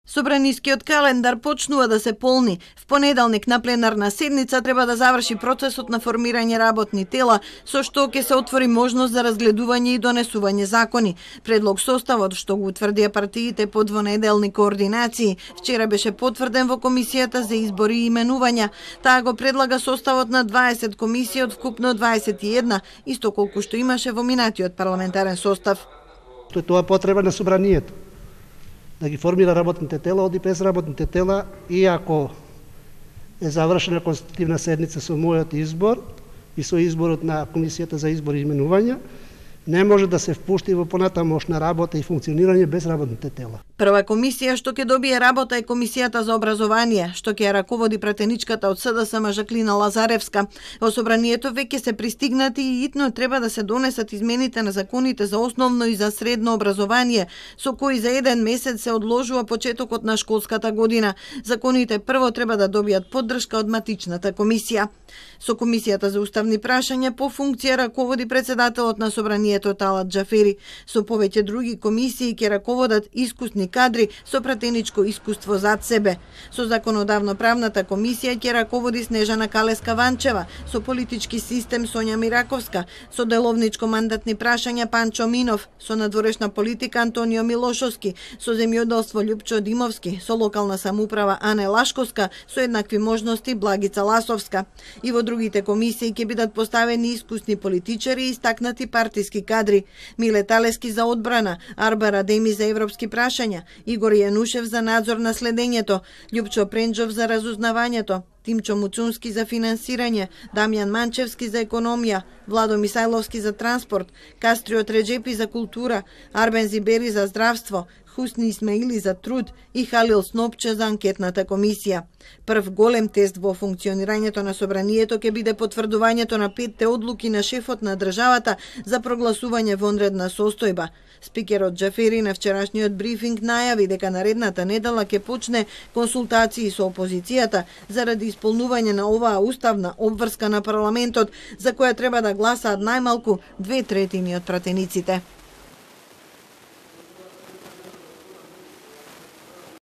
Собранискиот календар почнува да се полни. В понеделник на пленарна седница треба да заврши процесот на формирање работни тела, со што ќе се отвори можност за разгледување и донесување закони. Предлог составот, што го утврдија партиите по двонеделни координации, вчера беше потврден во Комисијата за избори и именувања. Таа го предлага составот на 20 комисии од вкупно 21, исто колку што имаше во минатиот парламентарен состав. Тоа потреба на собранието да ги формира работните тела, оди без работните тела, и ако е завршена конститутивна седница со мојот избор и со изборот на Комисијата за избори и именувања, не може да се впушти во понатамошна работа и функционирање без работните тела. Прва комисија што ќе добие работа е Комисијата за образование, што ќе ја раководи пратеничката од СДСМ Жаклина Лазаревска. Во собранието веќе се пристигнати и итно треба да се донесат измените на законите за основно и за средно образование, со кои за еден месец се одложува почетокот на школската година. Законите прво треба да добијат поддршка од матичната комисија. Со Комисијата за уставни прашања по функција раководи председателот на собранието Талат Џафери. Со повеќе други комисии ќе раководат искусни кадри со пратеничко искуство зад себе. Со законодавно-правната комисија ќе раководи Снежана Калеска-Ванчева, со политички систем Сонја Мираковска, со деловничко-мандатни прашања Панчо Минов, со надворешна политика Антонио Милошовски, со земјоделство Љупчо Димовски, со локална самоуправа Ане Лашковска, со еднакви можности Благица Ласовска. И во другите комисии ќе бидат поставени искусни политичари и истакнати партиски кадри. Миле Талески за одбрана, Арбар Адеми за европски прашања, Игор Јанушев за надзор на следењето, Љупчо Пренџов за разузнавањето, Тимчо Муцунски за финансирање, Дамјан Манчевски за економија, Владо Мисајловски за транспорт, Кастрио Треџепи за култура, Арбен Зибери за здравство, Хусни Исмаили за труд и Халил Снопче за анкетната комисија. Прв голем тест во функционирањето на собранието ќе биде потврдувањето на 5 одлуки на шефот на државата за прогласување вонредна состојба. Спикерот Џафери на вчерашниот брифинг најави дека наредната недела ќе почне консултации со опозицијата заради исполнување на оваа уставна обврска на парламентот, за која треба да гласаат најмалку 2/3 од пратениците.